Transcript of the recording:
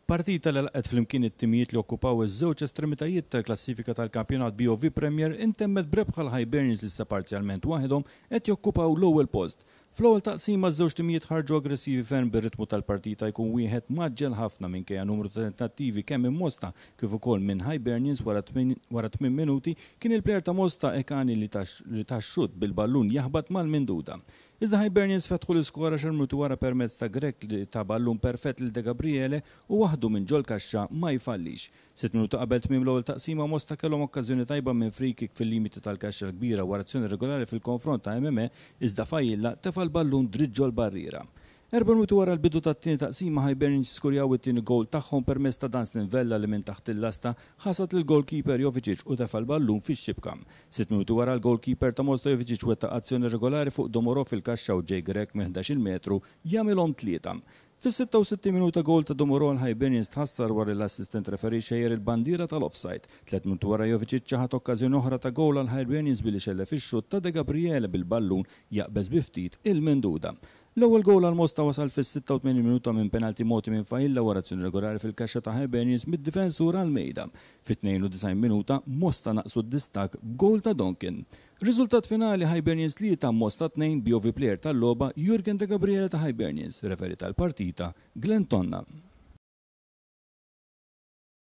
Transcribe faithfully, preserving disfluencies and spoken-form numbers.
Partita li laqgħet flimkien it-timijiet li okkupaw iż-żewġ estremitajiet tal-klassifika tal-kampjonat B O V Premier intemmet b'rebħa l-Hibernians li issa parzjalment waħedhom qed jokkupaw l-ewwel post. Fl-ewwel taqsima ż-żewġ timijiet ħarġu aggressivi ferm, bir-ritmu tal-partita jkun wieħed mgħaġġel ħafna minkejja numru ta' tentattivi kemm minn Mosta kif ukoll minn Hibernians. Wara tmien minuti kien il-plejer ta' Mosta Ekani li ta xutt bil-ballun jaħbat mal-minduda. Iżda Hibernians fetħu l-iskor għaxar minuti wara permezz ta' Grek li ta ballun perfett lil De Gabriele u waħdu minn ġol kaxxa ma jfallix. Sitt minuti qabel tmiem l-ewwel taqsima, Mosta kellhom okkażjoni tajba minn free kick fil-limiti tal-kaxxa l-kbira wara azzjoni regolari fil-konfront ta' M M A, iżda Fajilla tefa' l-ballun dritt ġol barriera. Erba' minuti wara l-bidu tat-tieni taqsima, Hibernians skurjaw it-tieni goal tagħhom permezz ta' Dunstan Vella li minn taħt il-lasta ħasad il-goalkeeper Jovicic u tefa' l-ballun fix-xibka. Sitt minuti wara, l-goalkeeper ta' Mosta Jovicic wettaq azzjoni regolari fuq Domoro fil-kaxxa u Jay Grech minn ħdax-il metru jagħmilhom tlieta. Fis-sitta u sittin minuta, goal ta' Domoro għal Hibernians tħassar wara l-assistent referee xejjer il-bandira tal-offside. Tliet minuti wara, Jovicic ċaħat okkażjoni oħra ta' goal għal Hibernians billi xellef ix-xutt ta' De Gabriele bil-ballun jaqbeż bi ftit il-minduda. L-ewwel goal għal Mosta wasal fis-sitta u tmenin minuta minn penalti mogħti minn Fajilla wara azzjoni regolari fil-kaxxa ta' Hibernians mid-difensur Almeida. Fit-tnejn u disgħin minuta Mosta naqsu d-distak b'goal ta' Donkin. Riżultat finali: Hibernians tlieta, Mosta tnejn, B O V Player tal-logħba Jurgen De Gabriele ta' Hibernians, referee tal-partita Glenn Tonna.